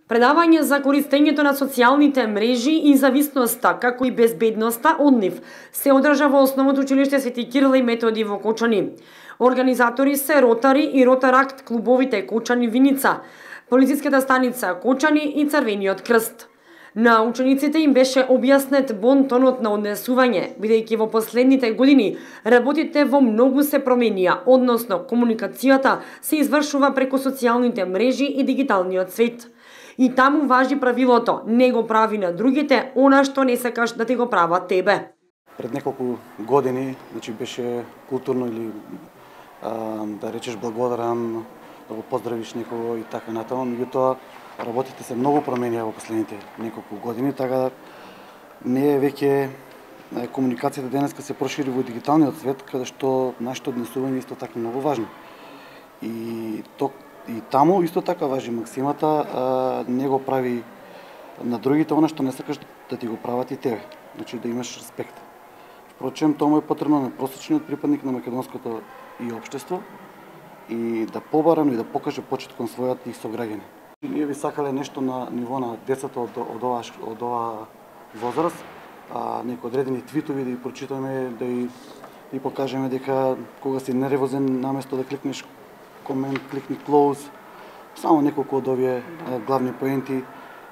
Предавање за користењето на социјалните мрежи и зависноста, како и безбедноста од нив, се одржа во Основното училиште Свети Кирил и Методи во Кочани. Организатори се Ротари и Ротаракт клубовите Кочани Виница, полициската станица Кочани и Црвениот крст. На учениците им беше објаснет бонтонот на однесување, бидејќи во последните години работите во многу се променија, односно комуникацијата се извршува преку социјалните мрежи и дигиталниот свет. И таму важи правилото: не го прави на другите она што не сакаш да ти го прават тебе. Пред неколку години, беше културно или да речеш благодарен, да го поздравиш некого и така натаму, меѓутоа работите се многу променија во последните неколку години, така не е веќе комуникацијата денеска се прошири во дигиталниот свет, каде што нашето однесување исто така многу важно. И таму исто така важи максимата: не го прави на другите она што не сакаш да ти го прават и тебе. Значи да имаш респект. Впрочем, тоа му е потребно на просечниот припадник на македонското и општество и да побара, но и да покаже почит кон својот и сограѓани. Ние би сакале нешто на ниво на децата од оваа возраст, некои одредени твитови да ги прочитаме, да и покажеме дека кога си нервозен, наместо да кликнеш комент, кликни close, само неколку од овие главни поенти.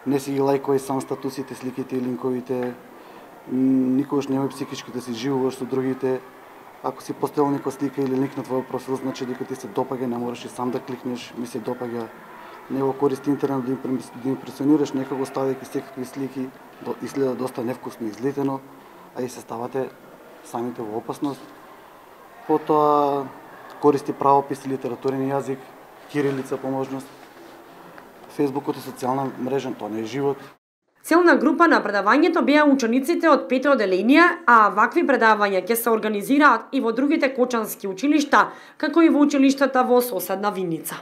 Не си ги лајкувај сам статусите, сликите и линковите, никогаш немој психички да си живуваш со другите. Ако си поставил некоја слика или линк на твојот профил, значи дека ти се допаѓа, не мораш и сам да кликнеш, ми се допаѓа. Не го користи интернет да импресионираш некого ставајќи секакви слики, изгледа доста невкусно излетено, а и се ставате самите во опасност. Потоа користи правопис и литературен јазик, кирилица по можност. Фејсбукот е социјална мрежа, тоа не е живот. Целна група на предавањето беа учениците од 5 оделенија, а вакви предавања ќе се организираат и во другите кочански училишта, како и во училиштата во соседна Виница.